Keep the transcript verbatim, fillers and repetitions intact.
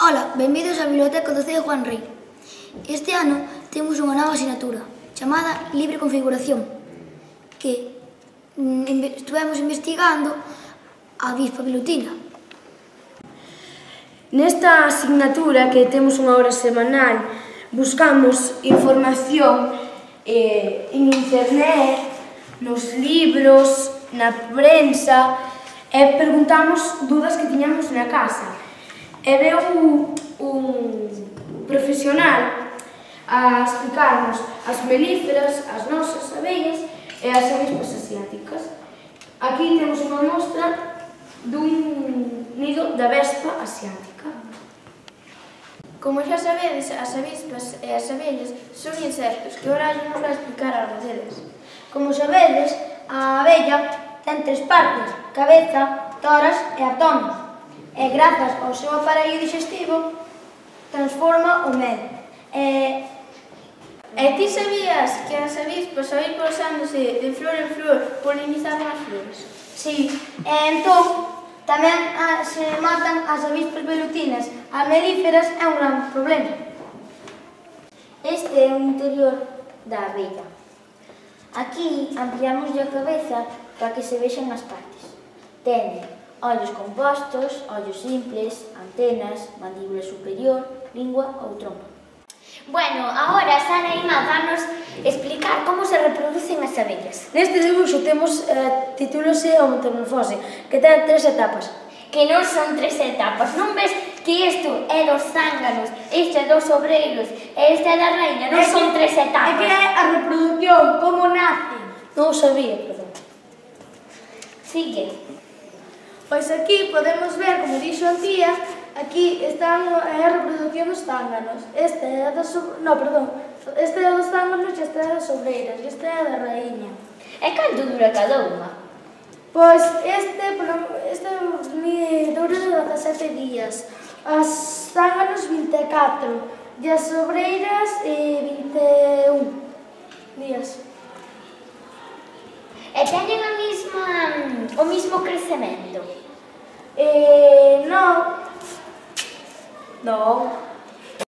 Ola, benvidos á Biblioteca do Ceo Juan Rei. Este ano temos unha nova asignatura chamada Libre Configuración, que estuvemos investigando a Avispa Velutina. Nesta asignatura, que temos unha hora semanal, buscamos información eh, en internet, nos libros, na prensa, e preguntamos dudas que tiñamos na casa. E veu un, un profesional a explicarnos as melíferas, as nosas abellas e as avispas asiáticas. Aquí temos unha mostra dun nido da vespa asiática. Como xa sabedes, as avispas e as abellas son insectos, que Horacio nos vai explicar algo deles. Como sabedes, a abella ten tres partes: cabeza, toras e abdomen. E grazas ao seu aparello digestivo transforma o mel. E, e ti sabías que as avispas, ao ir pasándose de flor en flor, polinizaban as flores? Sí, e entón tamén a, se matan as avispas velutinas. As melíferas é un gran problema. Este é o interior da abella. Aquí ampliamos a cabeza para que se vexan as partes. Ten ollos compostos, ollos simples, antenas, mandíbula superior, lingua ou trompa. Bueno, agora Sara Ima vanos explicar como se reproducen as abellas. Neste dibuixo temos eh, titúlose o metamorfose, que ten tres etapas. Que non son tres etapas, non ves que isto é dos zánganos, este é dos obreiros e este é da reina, non son tres etapas. É que é a reproducción, como nace. Non o sabía, perdón. Sigue. Pois aquí podemos ver, como dixo a tía, aquí están a reproducción dos zánganos. Este é dos... No, perdón. Este é dos zánganos e este é das obreiras. E este é da raíña. E canto dura cada unha? Pois este, este dura dezasete días. As zánganos vinte e catro. E as obreiras vinte e un días. E teñen a mesma, o mismo crecemento? Eh, non. Non.